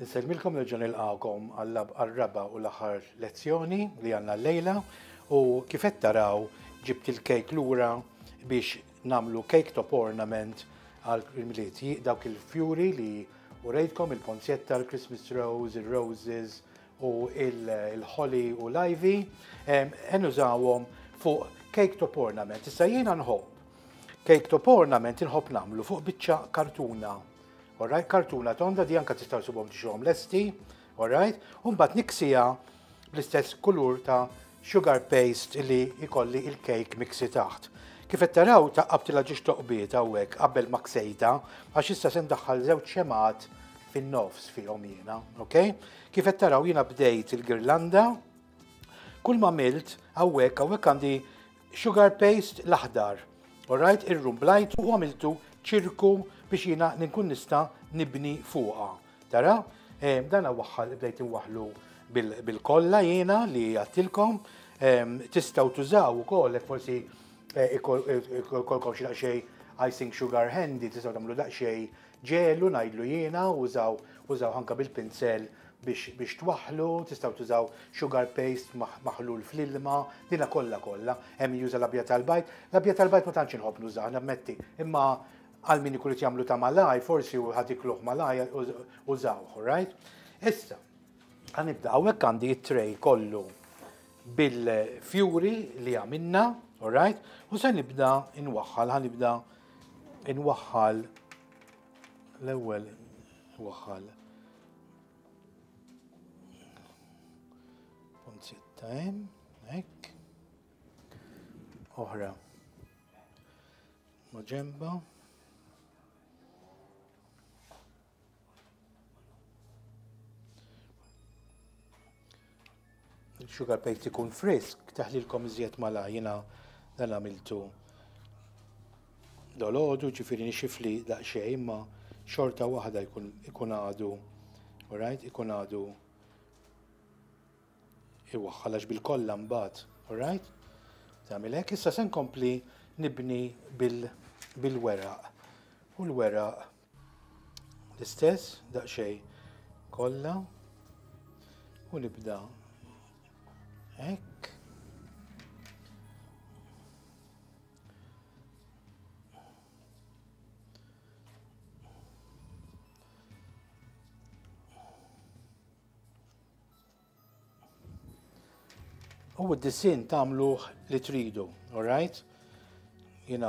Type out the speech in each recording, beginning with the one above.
Insellmilkom nerġa' nilqagħkom għar-raba' u l-aħħar lezzjoni li għandna llejla u kif qed taraw ġibt il-kejk lura biex nagħmlu cake top ornament għal Milied. Dawk il-fjuri li urejtkom il-ponzjetta, il-Christmas rose, il-roses u il-holly u l-ivy, nużawhom fuq cake top ornament. Issa jiena nħobb cake top ornament inħobb nagħmlu fuq biċċa kartuna. Alright, kartuna tonda di anka tistgħu subhom tixhom lesti, alright, u mbagħad niksija bl-istess kulur ta' sugar paste li jkolli il-cake miksi taħt. Kif qed taraw taqqabtilha ġiex toqbiet hawnhekk qabel ma ksejta għax issa se ndaħħal żewġ xemgħat fin-nofs fihom jiena, ok? Kif qed taraw jiena bdejt il-girlanda, kull ma għamilt hawnhekk hawnhekk għandi Sugar paste l-aħdar. Alright, irrumblajtu u għamiltu ċirku biex jiena nkun nista' nibni fuqha. Tara? Eh, dan waħħal bdejt inwaħħlu bil-kolla jiena li għattilkom. Eh, tistgħu tużaw ukoll jekk forsi eh, ikolkom xi daqsxejn icing sugar handy, tistgħu tagħmlu daqsxejn ġelu ngħidlu jiena, użaw użaw anke bil-pinsel biex biex twaħħlu, tistgħu tużaw sugar paste maħlul fl-ilma, dina kollha kollha. Hemm juża l-abjad tal-bajd. L-abjad tal-bajd ma tantx inħobb nużah, nammetti, imma għal min ikun jagħmlu ta' malaj, forsi u ħad ikluh malaj użawh, right? Issa, ħanibda hawnhekk għandi it-tray kollu bil-fjuri li għamilna, alright? U se nibda inwaħħal, ħanibda inwaħħal l-ewwel waħħal Punzietta hemm, hekk. Oħra. Ma ġemba. Il-sugar paste ikun frisk, taħlilkom iżjed mala jiena dan għamiltu dolodu, ġifieri nixifli daqsxejn, imma xorta waħda jkun għadu, alright, ikun għadu iwaħħal għax bil-kolla mbagħad, alright? Tagħmel hekk, issa se nkompli nibni bil-weraq. U l-weraq L-istess, daqsxejn kollha u nibda hekk. U d-disin tagħmluh li tridu, alright? Jina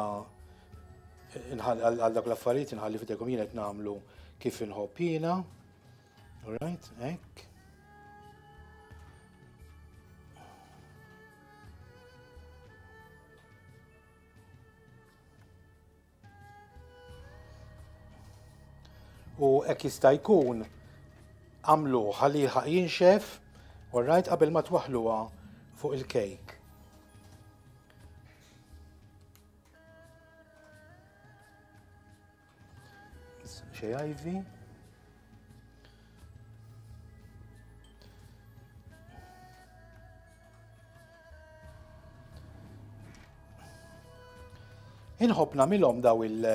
għal dak l-affarijiet inħalli fidejkom jien qed nagħmlu kif inħobb jiena. Alright, hekk. U hekk jista' jkun għamlu ħalli jilħaq jinxef, alright, qabel ma twaħħluha fuq il-kejk. Xej ivy. Inħobb nagħmilhom daw il-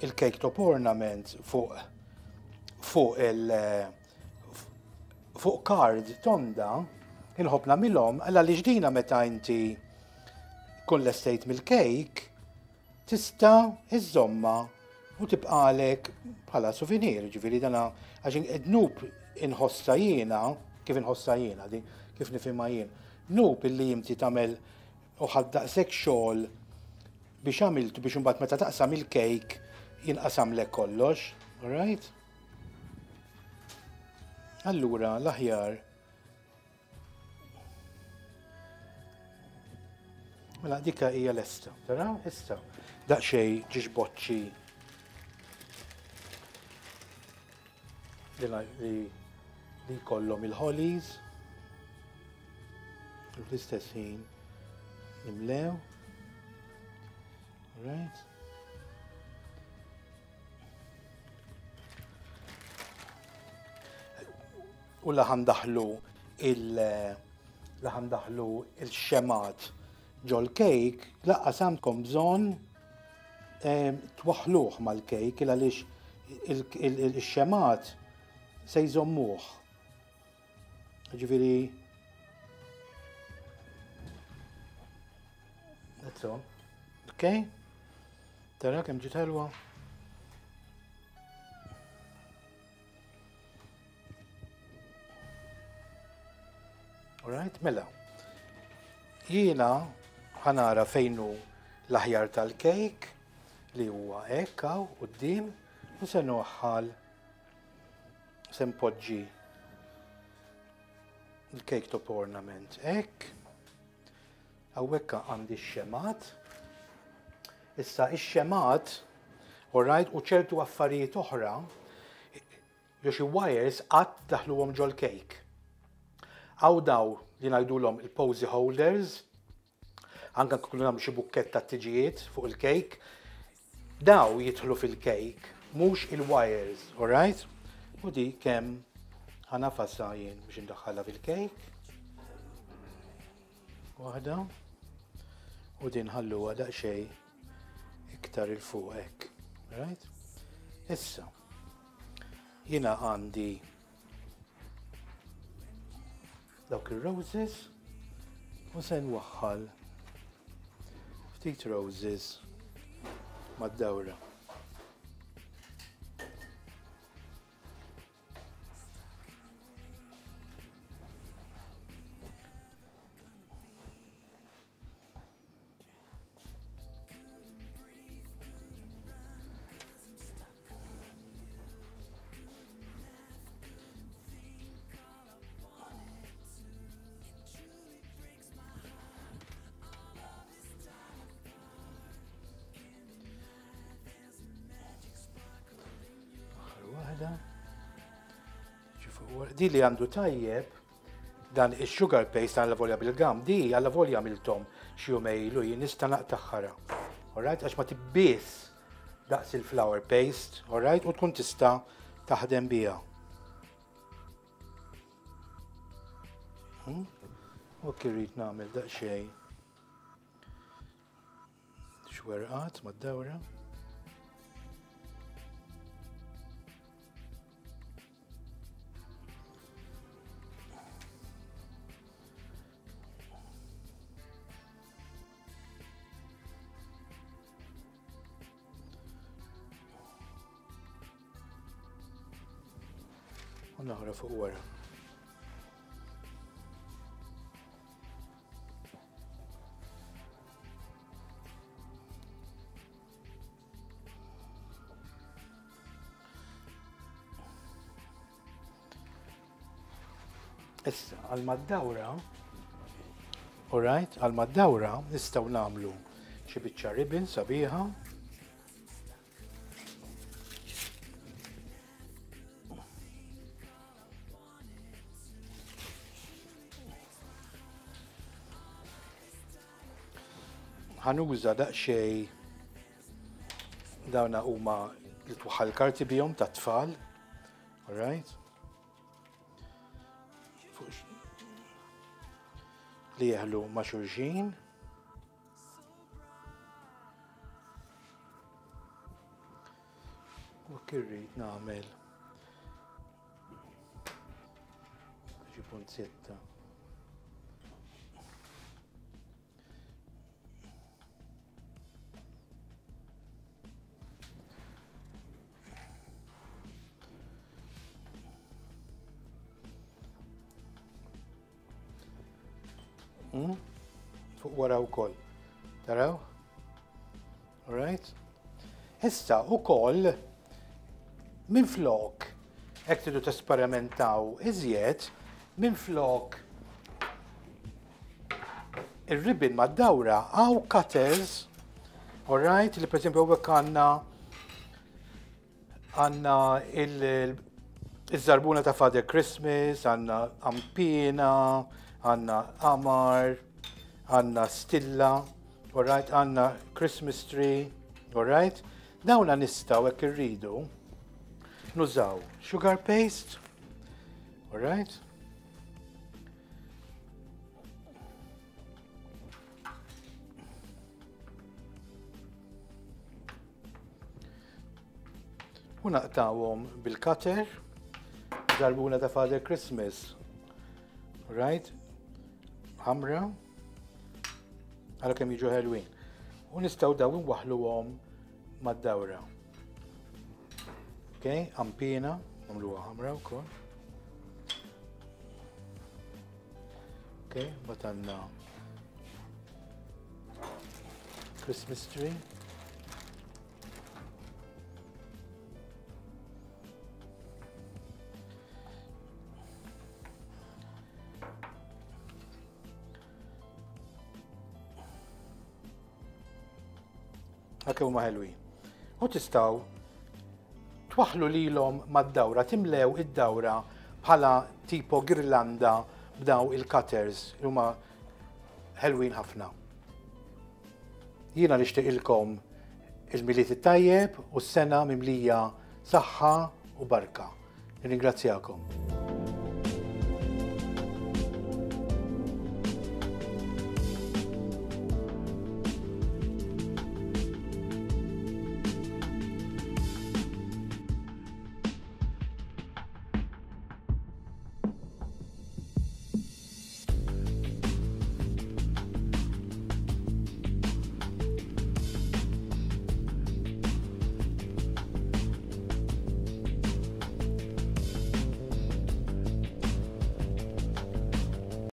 il-cake top ornament fuq fuq il fuq card tonda inħobb nagħmilhom għal għaliex dina meta inti kun lestejt mill-cake tista' iżżommha u tibqagħlek bħala souvenir, ġifieri dana għax id-dnub inħossha jiena, kif inħossha jiena di, kif nifhimha jien. Dnub illi inti tagħmel u ħadd daqshekk xogħol biex għamiltu biex imbagħad meta taqsam il-kejk jinqasamlek kollox, alright? Allura l-aħjar Mela dika hija lesta, tara? Issa daqsxejn ġiex boċċi li li jkollhom il-hollies u fl-istess ħin nimlew. Right. U la ħandaħlu il la ħandaħlu il-xemat ġol-kejk, laqqas għandkom bżonn twaħħluh mal-kejk il għaliex il-xemat. se jżommuh. Ġifieri That's all. Okay? Tara kemm ġiet ħelwa. Alright, mela. Jiena ħanara fejnu l-aħjar tal-kejk li huwa hekk hawn quddiem u se noħħal se npoġġi il-cake top ornament hekk. Hawnhekk għandi x-xemat. Issa ix-xemat, alright, u ċertu affarijiet oħra, jew xi wires qatt daħluhom ġol-kejk. Hawn daw li ngħidulhom il-posy holders, anke nkunu nagħmlu xi bukkett ta' tiġijiet fuq il-kejk, daw jidħlu fil-kejk, mhux il-wires, alright? U di kemm ħanafasha jien biex indaħħalha fil-kejk. Waħda. U din ħalluha daqsxejn iktar il fuq hekk. Right? Issa, jiena għandi dawk ir-roses u se nwaħħal ftit roses mad-dawra. Aħħar waħda. Di li għandu tajjeb dan il-sugar paste għalla volja bil-gam, di għalla volja għamiltom xi jumejlu jien nista' naqtaħħara. Alright, għax ma tibbies daqs il-flour paste, alright, u tkun tista' taħdem biha. Hmm? U kirrit nagħmel daqsxejn. Xwerqat mad-dawra. U naħra fuq wara. Issa, għal mad-dawra, alright, għal mad-dawra nistgħu nagħmlu xi biċċa ribbon sabiħa. Ħanuża daqsxejn dawna huma li twaħħal karti bihom tat-tfal. Alright? Li jeħlu ma' xulxin. U kirrid nagħmel xi punzetta. Hmm? Fuq wara wkoll. Taraw? Alright? Issa ukoll minflok hekk tridu tesperimentaw iżjed, minflok ir-ribbon mad-dawra hawn cutters, alright, li per esempio hawnhekk għandna għandna il-żarbuna ta' Father Christmas, għandna ampina, għandna qamar, għandna stilla, alright, għandna Christmas tree, alright. Dawna nistgħu hekk irridu nużaw sugar paste, alright. U naqtawhom bil-cutter. Żarbuna ta' Father Christmas. Right? Ħamra. Għara kemm jiġu ħelwin. U nistgħu daw inwaħħluhom mad-dawra. Ok, ampina, nagħmluha ħamra wkoll. Ok, mbagħad għandna Christmas tree. Għak huma ħelwin. U tistgħu twaħlu lilhom mad-dawra, timlew id-dawra bħala tipo girlanda b'daw il-cutters li huma ħelwin ħafna. Jiena nixtieqilkom il-Milied it-tajjeb u s-sena mimlija saħħa u barka. Nirringrazzjakom.